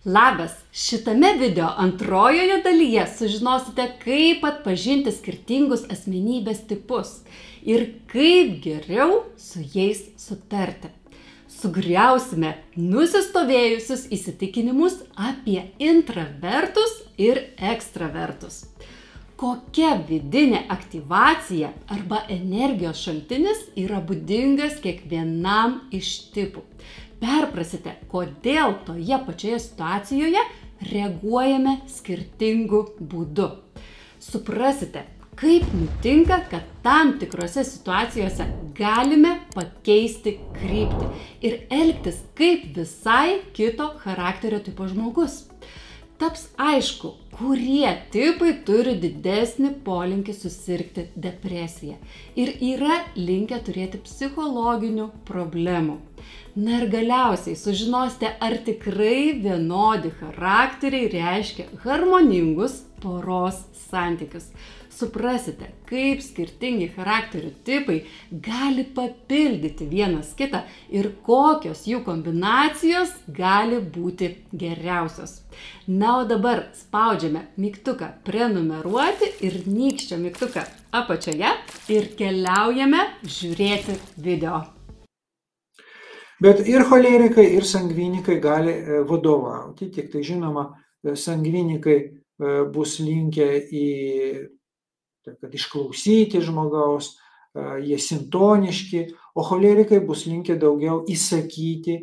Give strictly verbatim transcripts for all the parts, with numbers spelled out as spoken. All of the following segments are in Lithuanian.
Labas! Šitame video antrojoje dalyje sužinosite, kaip atpažinti skirtingus asmenybės tipus ir kaip geriau su jais sutarti. Sugriausime nusistovėjusius įsitikinimus apie intravertus ir ekstravertus. Kokia vidinė aktyvacija arba energijos šaltinis yra būdingas kiekvienam iš tipų. Perprasite, kodėl toje pačioje situacijoje reaguojame skirtingu būdu. Suprasite, kaip nutinka, kad tam tikrose situacijose galime pakeisti kryptį ir elgtis kaip visai kito charakterio tipo žmogus. Taps aišku, kurie tipai turi didesnį polinkį susirgti depresiją ir yra linkę turėti psichologinių problemų. Na ir galiausiai sužinosite, ar tikrai vienodi charakteriai reiškia harmoningus poros santykius. Suprasite, kaip skirtingi charakterių tipai gali papildyti vienas kitą ir kokios jų kombinacijos gali būti geriausios. Na, o dabar spaudžiame mygtuką prenumeruoti ir nykščio mygtuką apačioje ir keliaujame žiūrėti video. Bet ir cholerikai, ir sangvinikai gali vadovauti, tik tai žinoma, sangvinikai bus linkę į kad išklausyti žmogaus, jie sintoniški, o cholerikai bus linkę daugiau įsakyti,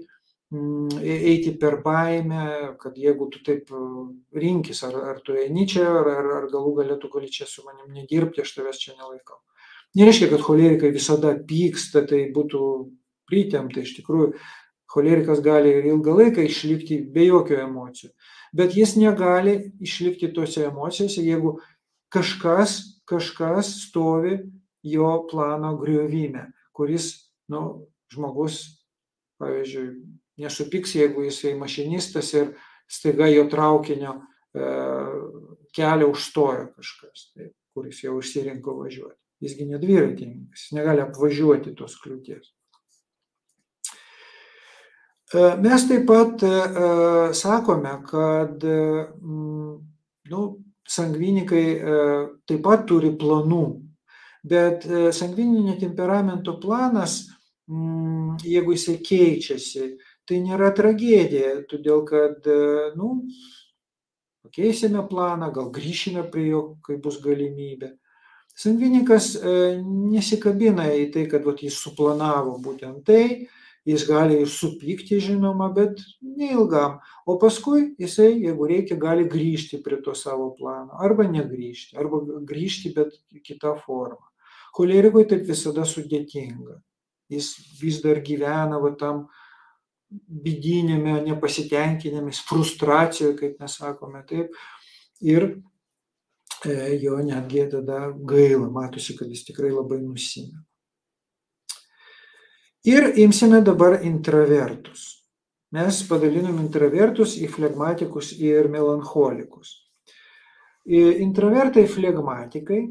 eiti per baimę, kad jeigu tu taip rinkis, ar, ar tu eini čia, ar, ar, ar galų gale tu gali čia su manim nedirbti, aš tavęs čia nelaikau. Nereiškia, kad cholerikai visada pyksta, tai būtų pritempta, iš tikrųjų, cholerikas gali ir ilgą laiką išlikti be jokių emocijų, bet jis negali išlikti tose emocijose, jeigu kažkas, kažkas stovi jo plano griovime, kuris, nu, žmogus, pavyzdžiui, nesupyks, jeigu jisai mašinistas ir staiga jo traukinio e, kelią užstoja kažkas, tai, kuris jau išsirinko važiuoti. Jisgi ne dviratininkas, jis negali apvažiuoti tos kliūties. E, mes taip pat e, sakome, kad e, nu, sangvinikai taip pat turi planų, bet sangvininio temperamento planas, jeigu jisai keičiasi, tai nėra tragedija, todėl kad, nu, pakeisime planą, gal grįšime prie jo, kai bus galimybė. Sangvinikas nesikabina į tai, kad vat, jis suplanavo būtent tai, jis gali ir supykti, žinoma, bet neilgam. O paskui jisai, jeigu reikia, gali grįžti prie to savo plano. Arba negrįžti, arba grįžti, bet kita forma. Cholerikui taip visada sudėtinga. Jis vis dar gyvena va, tam vidinėme nepasitenkinėme, frustracijoje, kaip mes sakome, taip. Ir e, jo netgi tada gaila, matosi, kad jis tikrai labai nusimena. Ir imsime dabar intravertus. Mes padalinom intravertus į flegmatikus ir melancholikus. Intravertai flegmatikai,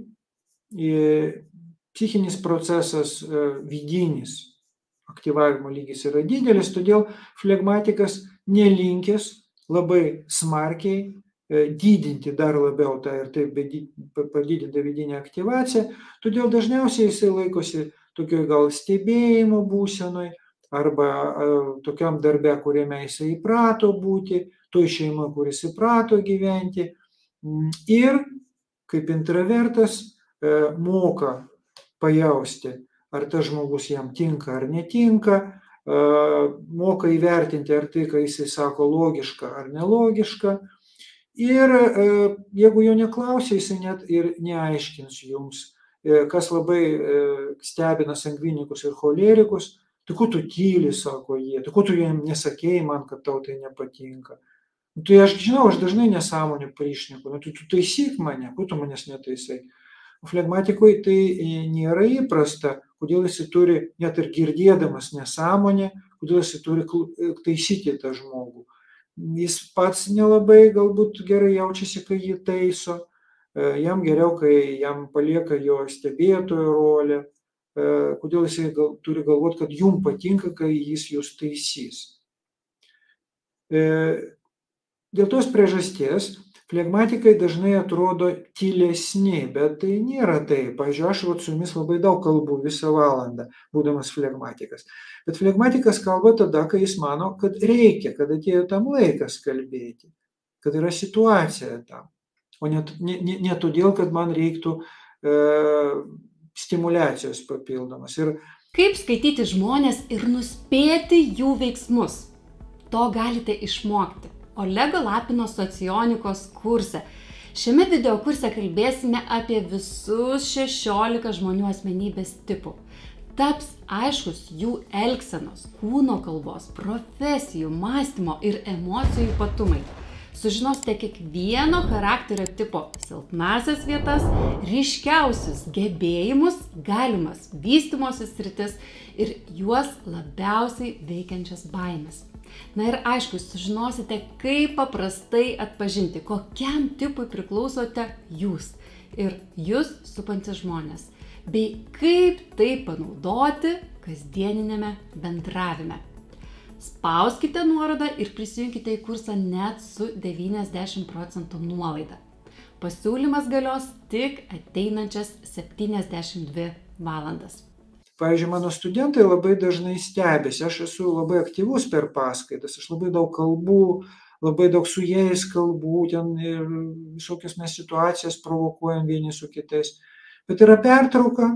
psichinis procesas vidinis, aktyvavimo lygis yra didelis, todėl flegmatikas nelinkęs labai smarkiai didinti dar labiau tą ir taip padidintą vidinę aktyvaciją, todėl dažniausiai jisai laikosi tokioj gal stebėjimo būsenoj, arba tokiam darbe, kuriame jisai įprato būti, toj šeima, kuris įprato gyventi. Ir kaip intravertas moka pajausti, ar tas žmogus jam tinka ar netinka, moka įvertinti, ar tai, ką jisai sako, logiška ar nelogiška. Ir jeigu jo neklausia, jisai net ir neaiškins jums, kas labai stebina sangvinikus ir cholerikus, tai ko tu tyli, sako jie, tai ko tu jiem nesakėjai man, kad tau tai nepatinka. Tai aš žinau, aš dažnai nesąmonę prišneku, nu, tu, tu taisyk mane, ko tu manęs netaisai. Flegmatikui tai nėra įprasta, kodėl jis turi, net ir girdėdamas nesąmonę, kodėl jis turi taisyti tą žmogų. Jis pats nelabai galbūt gerai jaučiasi, kai jį taiso. Jam geriau, kai jam palieka jo stebėtojo rolę, kodėl jis gal, turi galvoti, kad jum patinka, kai jis jūs taisys. dėl tos priežasties flegmatikai dažnai atrodo tylesni, bet tai nėra taip. Pavyzdžiui, aš vat su jumis labai daug kalbu visą valandą, būdamas flegmatikas. Bet flegmatikas kalba tada, kai jis mano, kad reikia, kad atėjo tam laikas kalbėti, kad yra situacija tam. O ne, ne, ne, ne todėl, kad man reiktų e, stimulacijos papildomas. Ir Kaip skaityti žmonės ir nuspėti jų veiksmus? To galite išmokti Olego Lapino socionikos kurse. Šiame video kurse kalbėsime apie visus šešiolika žmonių asmenybės tipų. Taps aiškus jų elgsenos, kūno kalbos, profesijų, mąstymo ir emocijų ypatumai. Sužinosite kiekvieno charakterio tipo silpnasias vietas, ryškiausius gebėjimus, galimas vystymosi sritis ir juos labiausiai veikiančias baimės. Na ir aišku, sužinosite, kaip paprastai atpažinti, kokiam tipui priklausote jūs ir jūs supantis žmonės, bei kaip tai panaudoti kasdieninėme bendravime. Spauskite nuorodą ir prisijunkite į kursą net su devyniasdešimt procentų nuolaida. Pasiūlymas galios tik ateinančias septyniasdešimt dvi valandas. Pavyzdžiui, mano studentai labai dažnai stebisi, aš esu labai aktyvus per paskaitas, aš labai daug kalbų, labai daug su jais kalbų, ten ir visokias mes situacijas provokuojam vieni su kitais. Bet yra pertrauka,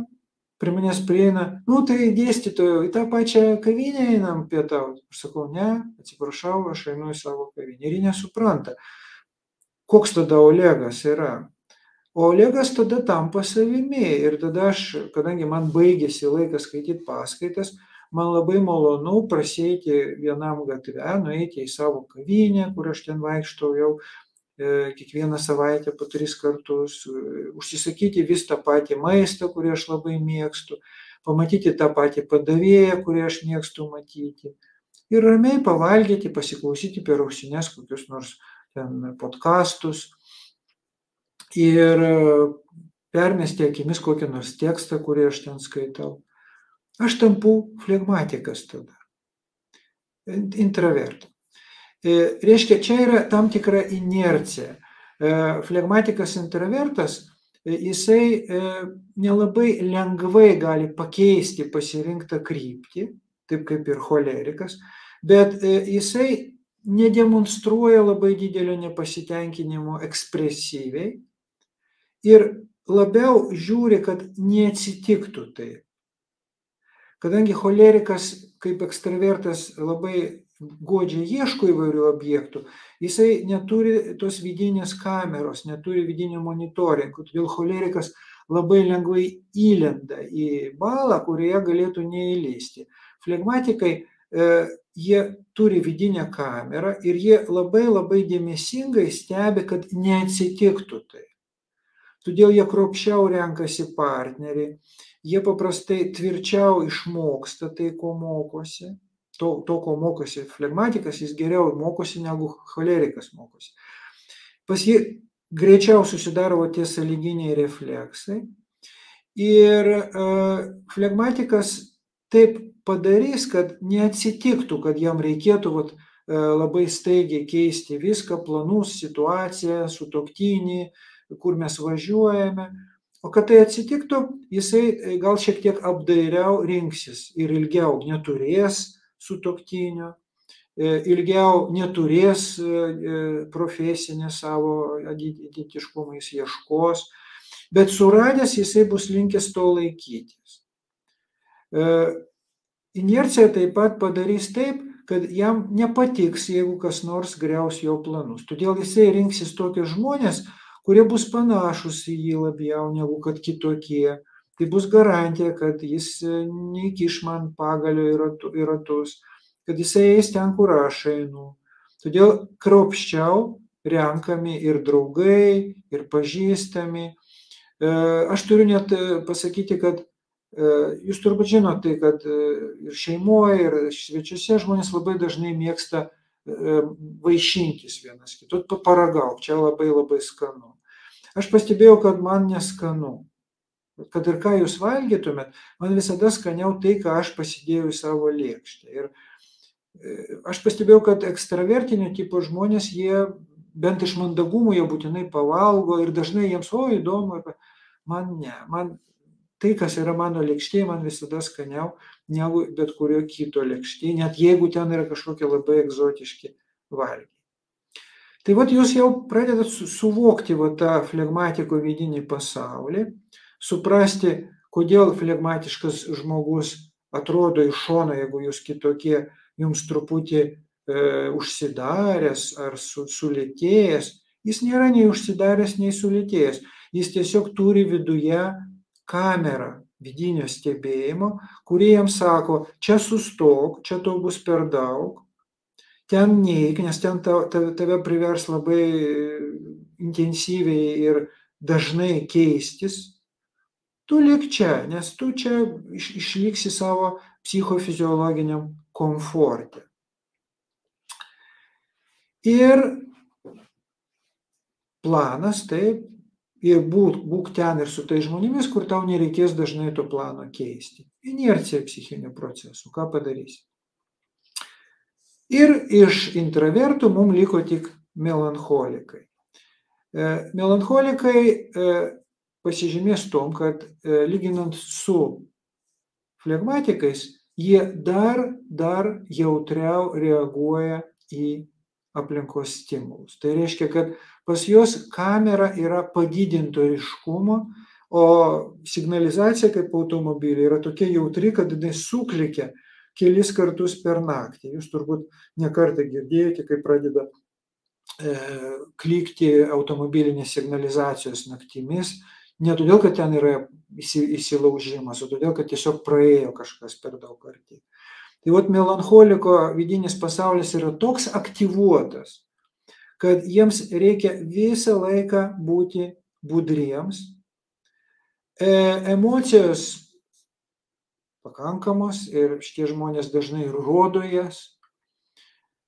prie manęs prieina, nu tai dėstytojau, į tą pačią kavinę einam pietauti. Aš sakau, ne, atsiprašau, aš einu į savo kavinę. Ir jie nesupranta, koks tada Olegas yra. O Olegas tada tampa savimi ir tada aš, kadangi man baigėsi laikas skaityti paskaitas, man labai malonu prasieiti vienam gatve, nueiti į savo kavinę, kur aš ten vaikštau jau e, kiekvieną savaitę po tris kartus, užsisakyti vis tą patį maistą, kurį aš labai mėgstu, pamatyti tą patį padavėją, kurį aš mėgstu matyti ir ramiai pavalgyti, pasiklausyti per ausines kokius nors ten podkastus. Ir permesti akimis kokį nors tekstą, kurį aš ten skaitau. Aš tampu flegmatikas tada, intravertas. Reiškia, čia yra tam tikra inercija. Flegmatikas intravertas, jisai nelabai lengvai gali pakeisti pasirinktą kryptį, taip kaip ir cholerikas, bet jisai nedemonstruoja labai didelio nepasitenkinimo ekspresyviai, ir labiau žiūri, kad neatsitiktų tai. Kadangi cholerikas kaip ekstravertas labai godžiai ieško įvairių objektų, jisai neturi tos vidinės kameros, neturi vidinio monitoringo, todėl cholerikas labai lengvai įlenda į balą, kurioje galėtų neįlysti. Flegmatikai, e, jie turi vidinę kamerą ir jie labai labai dėmesingai stebi, kad neatsitiktų tai. Todėl jie kruopščiau renkasi partnerį, jie paprastai tvirčiau išmoksta tai, ko mokosi. To, to ko mokosi flegmatikas, jis geriau mokosi negu cholerikas mokosi. Pas jį greičiau susidaro tie sąlyginiai refleksai. Ir uh, flegmatikas taip padarys, kad neatsitiktų, kad jam reikėtų vat, uh, labai staigiai keisti viską, planus, situaciją, sutuoktinį, kur mes važiuojame, o kad tai atsitiktų, jisai gal šiek tiek apdairiau rinksis ir ilgiau neturės sutuoktinio, ilgiau neturės profesinę savo identiškumą, jis ieškos, bet suradęs jisai bus linkęs to laikytis. Inercija taip pat padarys taip, kad jam nepatiks, jeigu kas nors griaus jo planus. Todėl jisai rinksis tokius žmonės, kurie bus panašus į jį labiau negu kad kitokie. Tai bus garantija, kad jis neįkiš man pagalio į ratus, kad jisai eis ten, kur aš einu. Todėl kruopščiau renkami ir draugai, ir pažįstami. Aš turiu net pasakyti, kad jūs turbūt žinote, kad ir šeimoje, ir svečiuose žmonės labai dažnai mėgsta vaišintis vienas kitu, paragauk, čia labai labai skanu. Aš pastebėjau, kad man neskanu. Kad ir ką jūs valgytumėt, man visada skaniau tai, ką aš pasidėjau į savo lėkštę. Ir aš pastebėjau, kad ekstravertinio tipo žmonės, jie bent iš mandagumo, jie būtinai pavalgo ir dažnai jiems, o įdomu, man ne, man tai, kas yra mano lėkštėje, man visada skaniau negu bet kurio kito lėkštėje, net jeigu ten yra kažkokie labai egzotiški valgiai. Tai vat jūs jau pradedat suvokti va tą flegmatiko vidinį pasaulį, suprasti, kodėl flegmatiškas žmogus atrodo iš šono, jeigu jūs kitokie, jums truputį e, užsidaręs ar su, sulėtėjęs. Jis nėra nei užsidaręs, nei sulėtėjęs. Jis tiesiog turi viduje kamerą vidinio stebėjimo, kurie jam sako, čia sustok, čia tau bus per daug, ten neik, nes ten tave privers labai intensyviai ir dažnai keistis. Tu lik čia, nes tu čia išliksi savo psichofiziologiniam komforte. Ir planas, taip, ir būk, būk ten ir su tai žmonėmis, kur tau nereikės dažnai to plano keisti. Inercija psichinių procesų, ką padarysi. Ir iš intravertų mums liko tik melancholikai. Melancholikai pasižymės tom, kad lyginant su flegmatikais, jie dar, dar jautriau reaguoja į aplinkos stimulus. Tai reiškia, kad pas juos kamera yra padidinto ryškumo, o signalizacija kaip automobiliai yra tokia jautri, kad jinai suklikia kelis kartus per naktį. Jūs turbūt ne kartą girdėjote, kai pradeda e, klikti automobilinės signalizacijos naktimis, ne todėl, kad ten yra įsilaužimas, o todėl, kad tiesiog praėjo kažkas per daug arti. Tai vat melancholiko vidinis pasaulis yra toks aktyvuotas, kad jiems reikia visą laiką būti budriems. E, emocijos pakankamos ir šitie žmonės dažnai rodo jas,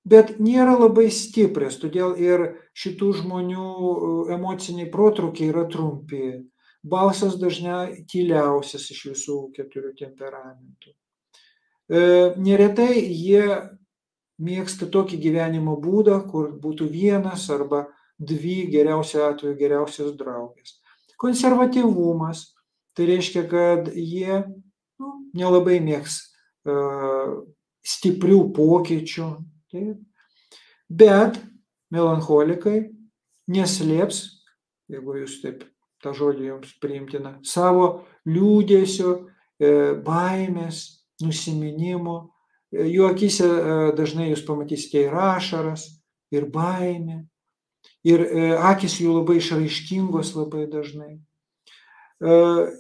bet nėra labai stiprios, todėl ir šitų žmonių emociniai protrukiai yra trumpi. Balsas dažnai tyliausias iš visų keturių temperamentų. E, neretai jie mėgsta tokį gyvenimo būdą, kur būtų vienas arba dvi, geriausiu atveju geriausios draugės. Konservatyvumas, tai reiškia, kad jie nu, nelabai mėgs uh, stiprių pokyčių, taip. Bet melancholikai neslėps, jeigu jūs taip tą žodį jums priimtina, savo liūdėsio, e, baimės, nusiminimo. Jų akyse e, dažnai jūs pamatysite ir ašaras, ir baimė, ir e, akys jų labai išraiškingos labai dažnai.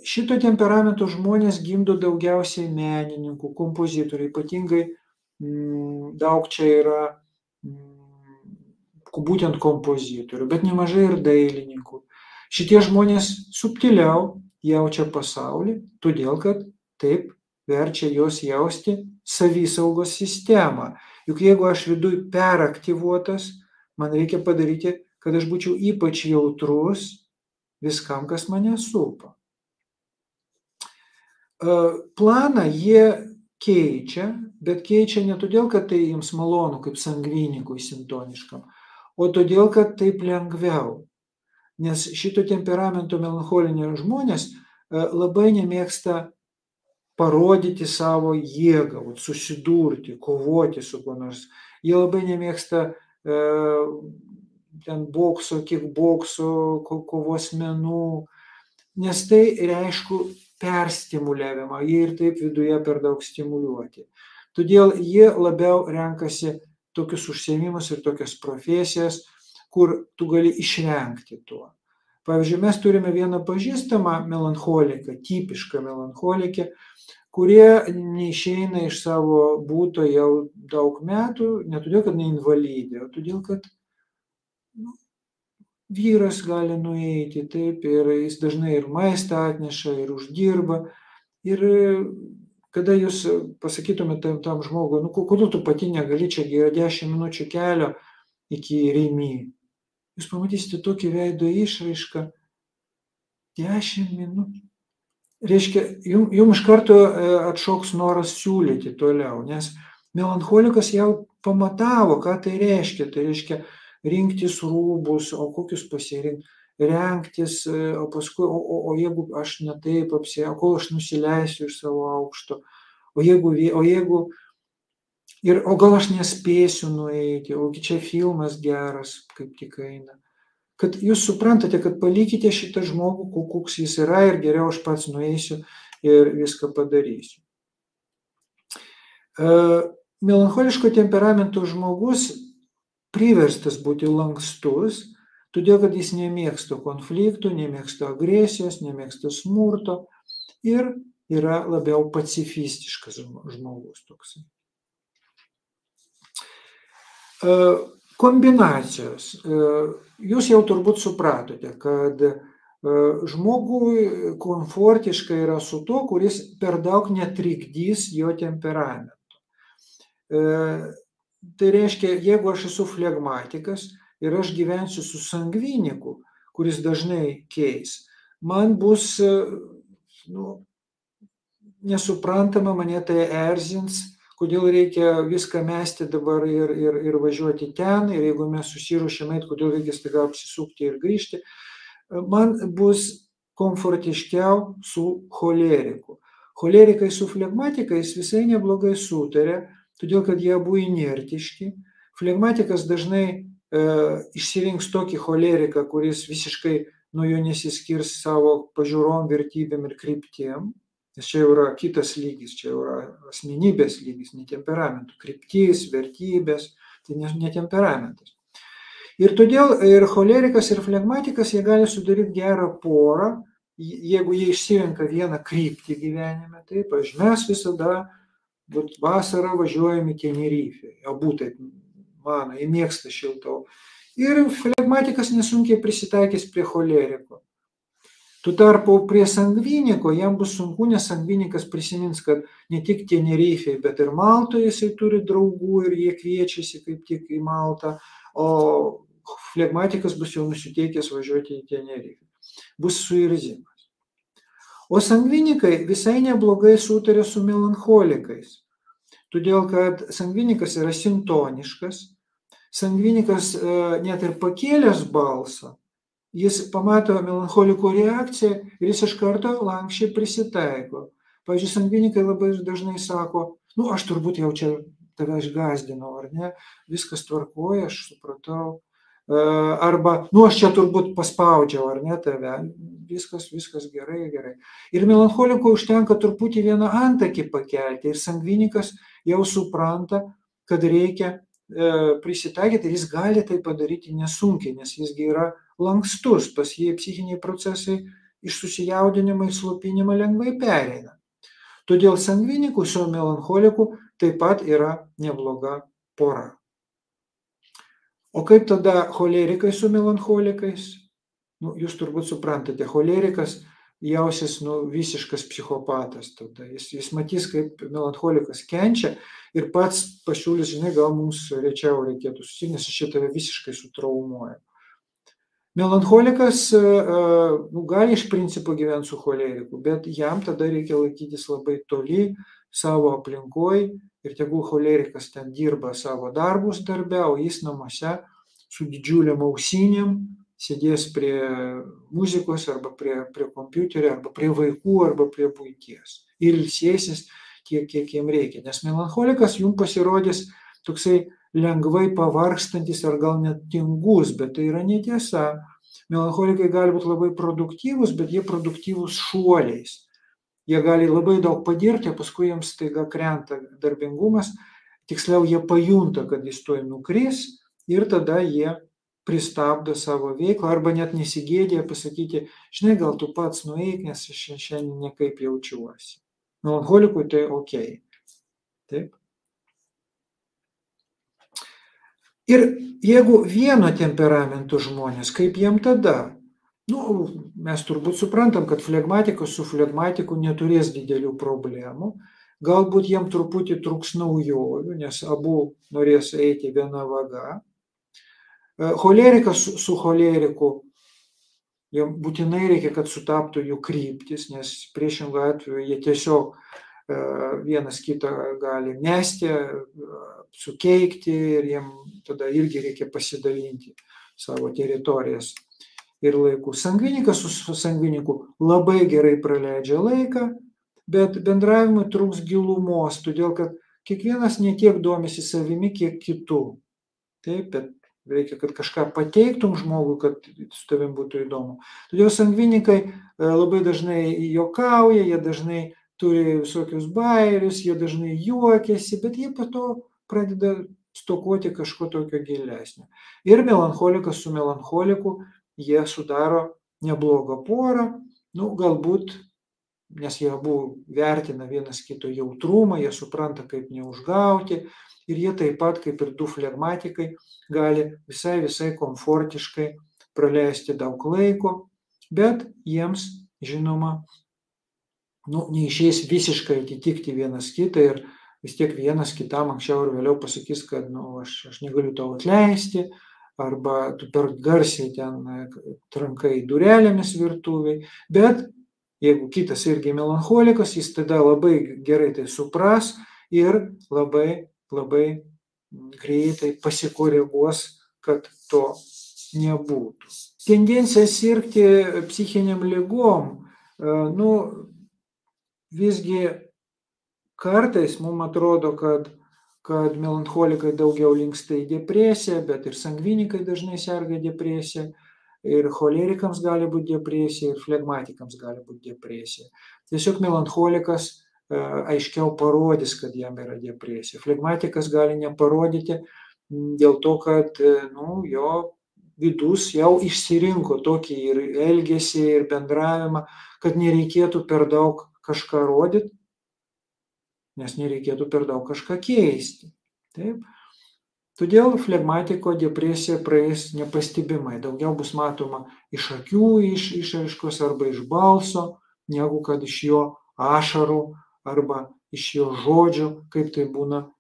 Šito temperamento žmonės gimdo daugiausiai menininkų, kompozitorių, ypatingai m, daug čia yra m, būtent kompozitorių, bet nemažai ir dailininkų. Šitie žmonės subtiliau jaučia pasaulį, todėl kad taip verčia juos jausti savisaugos sistemą. Juk jeigu aš viduj peraktyvuotas, man reikia padaryti, kad aš būčiau ypač jautrus viskam, kas mane supa. Planą jie keičia, bet keičia ne todėl, kad tai jiems malonu, kaip sangvinikui sintoniškam, o todėl, kad taip lengviau. Nes šito temperamento melancholinio žmonės labai nemėgsta parodyti savo jėgą, susidurti, kovoti su kuo nors. Jie labai nemėgsta e, ten bokso, kickbokso, kovos menų, nes tai reiškia perstimuliavimą, jie ir taip viduje per daug stimuliuoti. Todėl jie labiau renkasi tokius užsiėmimus ir tokias profesijas, kur tu gali išvengti tuo. Pavyzdžiui, mes turime vieną pažįstamą melancholiką, tipišką melancholikę, kurie neišeina iš savo būto jau daug metų, ne todėl, kad neinvalidė, o todėl, kad nu, vyras gali nueiti, taip, ir jis dažnai ir maistą atneša, ir uždirba. Ir kada jūs pasakytumėte tam, tam žmogui, nu, kodėl tu pati negali, čia yra dešimt minučių kelio iki Rimi. Jūs pamatysite tokį veido išraišką, dešimt minučių. Reiškia, jums jum iš karto atšoks noras siūlyti toliau, nes Melancholikas jau pamatavo, ką tai reiškia. Tai reiškia rinktis rūbus, o kokius pasirinkti, rengtis, o paskui, o, o, o jeigu aš ne taip apsirengsiu, kol aš nusileisiu iš savo aukšto, o jeigu, o jeigu, ir, o gal aš nespėsiu nueiti, o čia filmas geras, kaip tik eina. Kad jūs suprantate, kad palikite šitą žmogų, koks jis yra, ir geriau aš pats nueisiu ir viską padarysiu. Melancholiško temperamento žmogus priverstas būti lankstus, todėl kad jis nemėgsta konfliktų, nemėgsta agresijos, nemėgsta smurto ir yra labiau pacifistiškas žmogus toksai. Kombinacijos. Jūs jau turbūt supratote, kad žmogui komfortiška yra su tuo, kuris per daug netrikdys jo temperamento. Tai reiškia, jeigu aš esu flegmatikas ir aš gyvensiu su sangviniku, kuris dažnai keis, man bus nu, nesuprantama, mane tai erzins, kodėl reikia viską mesti dabar ir, ir, ir važiuoti ten, ir jeigu mes susiruošėm eit, kodėl reikia staiga apsisukti ir grįžti. Man bus komfortiškiau su choleriku. Cholerikai su flegmatikais visai neblogai sutarė, todėl kad jie abu inertiški. Flegmatikas dažnai e, išsirinks tokį choleriką, kuris visiškai nuo jo nesiskirs savo pažiūrom, vertybėm ir kryptiem. Nes čia jau yra kitas lygis, čia jau yra asmenybės lygis, ne temperamentų. Kryptis, vertybės, tai ne, ne temperamentas. Ir todėl ir cholerikas, ir flegmatikas, jie gali sudaryti gerą porą, jeigu jie išsirenka vieną kryptį gyvenime. Taip, aš mes visada vasarą važiuojam į Tenerifę, abu taip mano, jie mėgsta šiltau. Ir flegmatikas nesunkiai prisitaikys prie choleriko. Tu tarpu prie sangviniko jam bus sunku, nes sangvinikas prisimins, kad ne tik Tenerifėje, bet ir Maltoje jisai turi draugų ir jie kviečiasi kaip tik į Maltą, o flegmatikas bus jau nusiteikęs važiuoti į Tenerifę. Bus suirzimas. O sangvinikai visai neblogai sutarė su melancholikais, todėl kad sangvinikas yra sintoniškas, sangvinikas net ir pakėlęs balsą, jis pamato melancholiko reakciją ir jis iš karto lankščiai prisitaiko. Pavyzdžiui, sangvinikai labai dažnai sako, nu aš turbūt jau čia tave išgąsdinau, ar ne, viskas tvarkoja, aš supratau. Arba, nu aš čia turbūt paspaudžiau, ar ne tave, viskas, viskas gerai, gerai. Ir melancholiko užtenka truputį vieną antakį pakelti ir sangvinikas jau supranta, kad reikia e, prisitaikyti ir jis gali tai padaryti nesunkiai, nes jisgi yra lankstus, pas jį psichiniai procesai iš susijaudinimo į slopinimą lengvai pereina. Todėl sangvinikų su melancholiku taip pat yra nebloga pora. O kaip tada cholerikai su melancholikais? Nu, jūs turbūt suprantate, cholerikas jausis nu, visiškas psichopatas tada. Jis, jis matys, kaip melancholikas kenčia ir pats pasiūlys, žinai, gal mums rečiau reikėtų susitikti, nes aš šitą visiškai sutraumuoju. Melancholikas nu, gali iš principo gyventi su choleriku, bet jam tada reikia laikytis labai toli savo aplinkoje ir tegul cholerikas ten dirba savo darbus darbe, o jis namuose su didžiuliam ausinėm sėdės prie muzikos arba prie, prie kompiuterio, arba prie vaikų, arba prie buities. Ir ilsėsis tiek, kiek jiem reikia. Nes melancholikas jums pasirodys toksai lengvai pavargstantis ar gal net tingus, bet tai yra netiesa. Melancholikai gali būti labai produktyvus, bet jie produktyvus šuoliais. Jie gali labai daug padirbti, paskui jiems staiga krenta darbingumas, tiksliau jie pajunta, kad jis tuoj nukris ir tada jie pristabdo savo veiklą arba net nesigėdė pasakyti, žinai, gal tu pats nueik, nes aš šiandien nekaip jaučiuosi. Melancholikui tai ok. Taip. Ir jeigu vieno temperamento žmonės, kaip jiem tada? Nu, mes turbūt suprantam, kad flegmatikas su flegmatiku neturės didelių problemų. Galbūt jiem truputį trūks naujovių, nes abu norės eiti viena vaga. Cholerikas su, su choleriku, jiem būtinai reikia, kad sutaptų jų kryptis, nes priešingų atveju jie tiesiog vienas kitą gali mesti, sukeikti ir jiem tada irgi reikia pasidalinti savo teritorijas ir laikų. Sangvinikas su sangviniku labai gerai praleidžia laiką, bet bendravimui trūks gilumos, todėl kad kiekvienas ne tiek domisi savimi, kiek kitų. Taip, bet reikia, kad kažką pateiktum žmogui, kad su tavim būtų įdomu. Todėl sangvinikai labai dažnai juokauja, jie dažnai turi visokius bairius, jie dažnai juokiasi, bet jie po to pradeda stokoti kažko tokio gilesnio. Ir melancholikas su melancholiku, jie sudaro neblogą porą, nu, galbūt, nes jie abu vertina vienas kito jautrumą, jie supranta, kaip neužgauti, ir jie taip pat, kaip ir du flegmatikai, gali visai visai komfortiškai praleisti daug laiko, bet jiems, žinoma, nu, neišeis visiškai atitikti vienas kitą ir vis tiek vienas kitam anksčiau ir vėliau pasakys, kad nu, aš, aš negaliu tau atleisti, arba tu per garsiai ten trankai durelėmis virtuviai, bet jeigu kitas irgi melancholikas, jis tada labai gerai tai supras ir labai, labai greitai pasikoreguos, kad to nebūtų. Tendencija sirgti psichiniam ligom, nu, visgi kartais mums atrodo, kad, kad melancholikai daugiau linksta į depresiją, bet ir sangvinikai dažnai serga depresiją, ir cholerikams gali būti depresija, ir flegmatikams gali būti depresija. Tiesiog melancholikas aiškiau parodys, kad jam yra depresija. Flegmatikas gali neparodyti dėl to, kad nu, jo vidus jau išsirinko tokį ir elgesį, ir bendravimą, kad nereikėtų per daug kažką rodyti, nes nereikėtų per daug kažką keisti. Taip? Todėl flegmatiko depresija praeis nepastebimai. Daugiau bus matoma iš akių iš, išraiškos arba iš balso, negu kad iš jo ašarų arba iš jo žodžių, kaip tai būna e,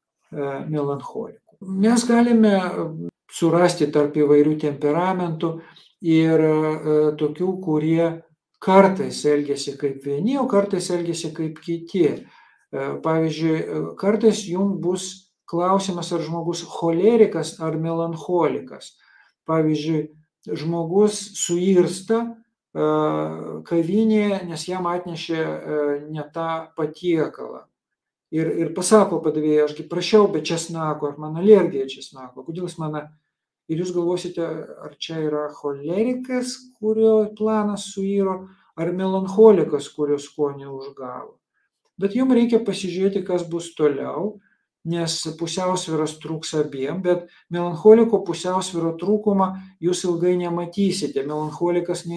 melancholikų. Mes galime surasti tarp įvairių temperamentų ir e, tokių, kurie kartais elgiasi kaip vieni, o kartais elgiasi kaip kiti. Pavyzdžiui, kartais jums bus klausimas, ar žmogus cholerikas ar melancholikas. Pavyzdžiui, žmogus suirsta kavinėje, nes jam atnešė ne tą patiekalą. Ir, ir pasako padavėjai, ašgi prašiau be česnako, ar man alergija česnako, kodėl jis man... Ir jūs galvosite, ar čia yra cholerikas, kurio planas suiro, ar melancholikas, kurio skonį užgavo. Bet jums reikia pasižiūrėti, kas bus toliau, nes pusiausvyros trūks abiem, bet melancholiko pusiausvyro trūkumą jūs ilgai nematysite. Melancholikas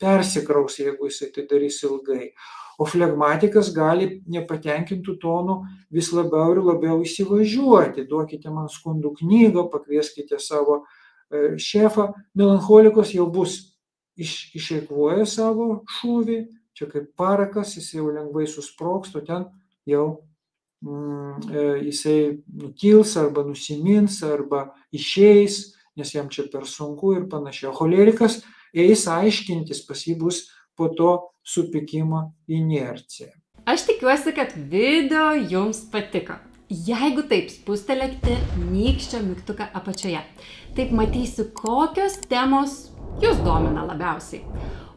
persikraus, jeigu jisai tai darys ilgai. O flegmatikas gali nepatenkintų tonų vis labiau ir labiau įsivažiuoti. Duokite man skundų knygą, pakvieskite savo šefą. Melancholikos jau bus iš, išeikvoję savo šūvį, čia kaip parakas, jis jau lengvai susproks, o ten jau mm, jisai nutils arba nusimins arba išeis, nes jam čia per sunku ir panašiai. Cholerikas eis aiškintis, pas jį bus po to supykimo inercija. Aš tikiuosi, kad video jums patiko. Jeigu taip, spustelėkite nykščio mygtuką apačioje. Taip matysiu, kokios temos jūs domina labiausiai.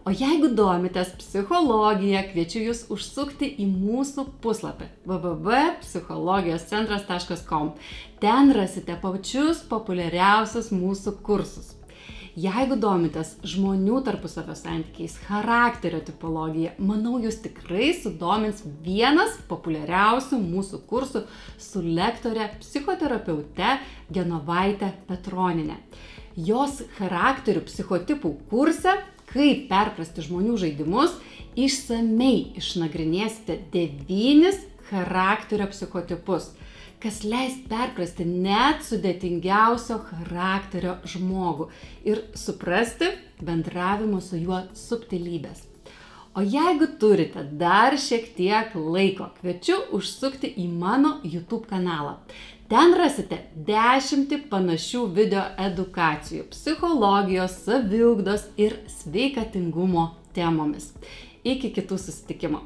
O jeigu domitės psichologija, kviečiu jūs užsukti į mūsų puslapį w w w taškas psichologijos centras taškas com. Ten rasite pačius populiariausius mūsų kursus. Jeigu domitės žmonių tarpusavio santykiais, charakterio tipologija, manau, jūs tikrai sudomins vienas populiariausių mūsų kursų su lektore, psichoterapeute Genovaite Petroniene. Jos charakterių psichotipų kurse, kaip perprasti žmonių žaidimus, išsamei išnagrinėsite devynis charakterio psichotipus, kas leis perprasti net sudėtingiausio charakterio žmogų ir suprasti bendravimo su juo subtilybės. O jeigu turite dar šiek tiek laiko, kviečiu užsukti į mano YouTube kanalą. Ten rasite dešimtį panašių video edukacijų psichologijos, saviugdos ir sveikatingumo temomis. Iki kitų susitikimų.